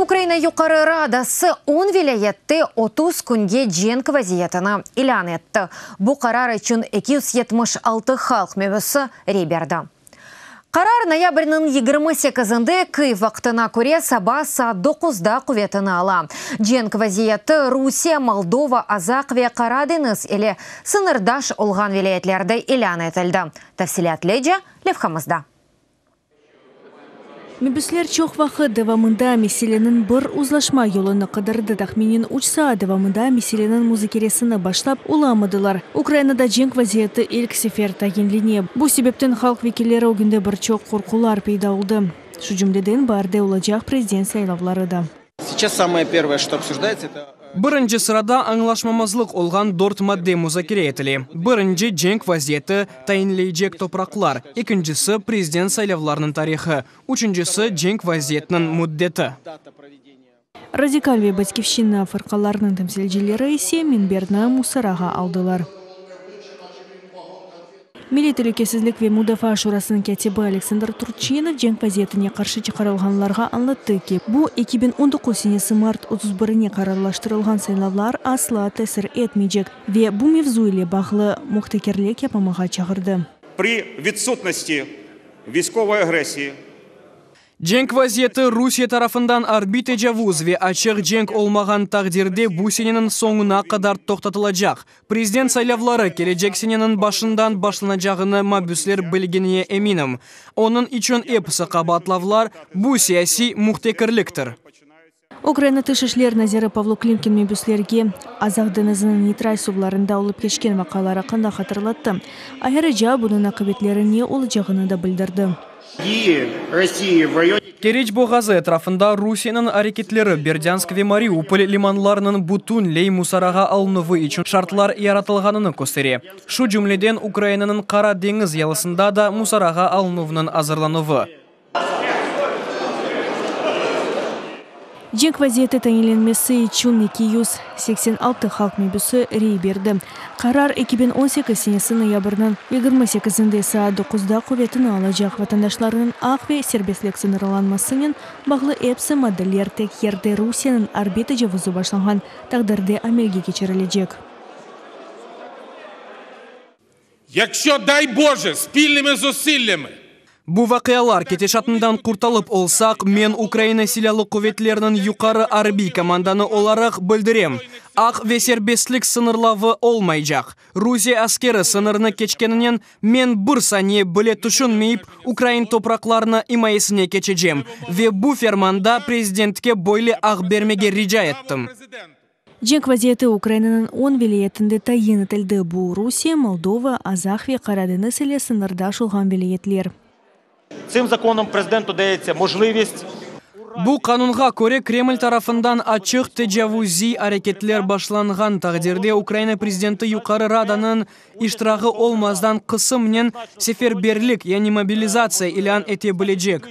Ukraina Yuqarı Radası on vilâyette 30 künge cenk vaziyetini ilân etti. Bu qarar içün 276 halq mebüsi rey berdi. Qarar noyabrniñ 28-inde Kyiv vaqtına köre saba saat 9-da quvetini ala. Cenk vaziyeti Rusiye, Moldova, Azaq ve Qara deñiz ile sıñırdaş olğan vilâyetlerde ilân etildi. Tafsilâtlıca levhamızda. Mebüsler çoq vaqıt devamında meseleniñ bir uzlaşma yolunı qıdırdı. Tahminen 3 saat devamında meseleniñ muzakeresini başlap olamadılar. Ukrainada cenk vaziyeti ilk sefer tayinlene. Bu sebepten halq vekilleri ögünde bir çoq qorqular peyda oldı. Şu cümleden baarde olacaq prezident saylavları da. Сейчас самое первое, что обсуждается, это Birinci sırada añlaşmamazlıq olğan dört madde muzakere etile. Birinci, cenk vaziyeti tayinleycek topraqlar. Ekincisi, prezident saylavlarınıñ tarihı. Üçüncisi, cenk vaziyetiniñ müddeti. Дата проведения. Radikal ve Batkivşçina fırqalarınıñ temsilcileri ise minberni musarağa aldılar. Milliy telükesizlik ve mudafaa şurasınıñ kâtibi Aleksandr Turçinov cenk vaziyetine qarşı çıqarılğanlarğa añlattı ki, bu 2019 senesi mart 31-ine qararlaştırılğan saylavlar asla tesir etmeycek ve bu mevzu ile bağlı mühtekirlik yapmamağa çağırdı. При відсутності військової агресії Cenk vaziyeti, Rusiye tarafından arbiy tecavuz ve açıq cenk olmağan taqdirde bu seneniñ soñuna qadar toqtatılacaq. Prezident saylavları kelecek seneniñ başından başlanacağını mabüsler bilgenine eminim. Onıñ içün episi qabaatlavlar bu siyasiy mühtekirliktir. Ukraina Tış işler naziri Pavlo Klimkin mebüslerge Azaq deñiziniñ neytral suvlarında olıp keçken vaqialar aqqında hatırlattı. Ayrıca bunıñ aqibetleri ne olacağını da bildirdi. Дії Росії в районі Keriç boğazı etrafında Rusiyeniñ areketleri Berdânsk ve Mariupol limanlarınıñ bütünley musarağa alınuvı içün şartlar yaratılğanını köstere. Şu cümleden Ukrainanıñ Qara deñiz yalısında da musarağa alınuvnıñ azırlanuvı. Cenk vaziyeti tayinlenmesi içün 286 halq mebüsi rey berdi. Qarar 2018 senesi noyabrniñ 28-inde saat 9-da quvetini alacaq. Vatandaşlarnıñ aq ve serbestlik sıñırlanmasınen bağlı episi maddeler tek yerde Rusiyeniñ arbiy tecavuzı başlanğan taqdirde amelge keçirilecek. Якщо, дай Боже, спільними зусиллями Bu vaqialar ketişatından qurtulıp olsaq, men Ukraina Silâlı quvetleriniñ yuqarı arbiy komandanı olaraq bildirem: aq ve serbestlik sıñırlavı olmaycaq. Rusiye askeri sıñırnı keçkeninen men bir saniye bile tüşünmeyip ukrain topraqlarını imayesine keçecem. Ve bu fermanda prezidentke böyle aq bermege rica ettim. Cenk vaziyeti Ukrainanıñ 10 vilâyetinde tayin etildi. Bu Rusiye, Moldova, Azaq ve Qara deñiz ile sıñırdaş olğan vilâyetler. Цим законом президенту дається можливість Bu qanunğa köre Kreml tarafından açıq tecavuziy areketler başlanğan taqdirde Ukraina prezidenti Yuqarı Radanıñ iştirağı olmazdan qısımnen seferberlik, yani mobilizatsiya ilân ete bilecek.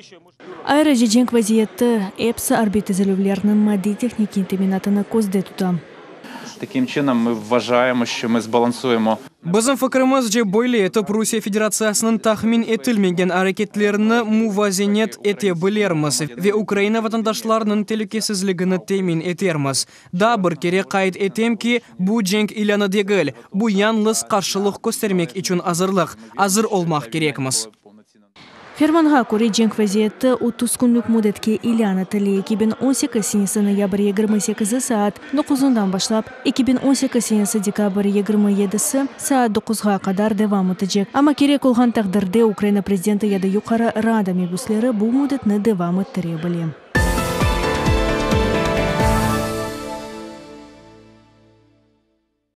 Ayrıca cenk vaziyeti episi arbiy tizilüvlerniñ maddiy-tehnikiy teminatını közde tuta. Таким чином, ми вважаємо, що ми збалансуємо Bizim fikrimizce, böyle etip Rusiye Federatsiyasınıñ tahmin etilmegen areketlerini muvazenet ete bilirmiz ve Ukraina vatandaşlarınıñ telükesizligini temin etermiz. Daa bir kere qayd etem ki, bu cenk ilânı degil, bu yalıñız qarşılıq köstermek içün azırlıq, azır olmaq kerekmiz. Fermanğa köre cenk vaziyeti 30 künlük müddetke ilân etile 2018 senesi noyabr 28 saat 9-dan başlap 2018 senesi dekabr 27 saat 9-ğa qadar devam etecek. Amma kerek olğan taqdirde Ukraina prezidenti ya da Yuqarı Rada mebüsleri bu müddetni devam ettire bile.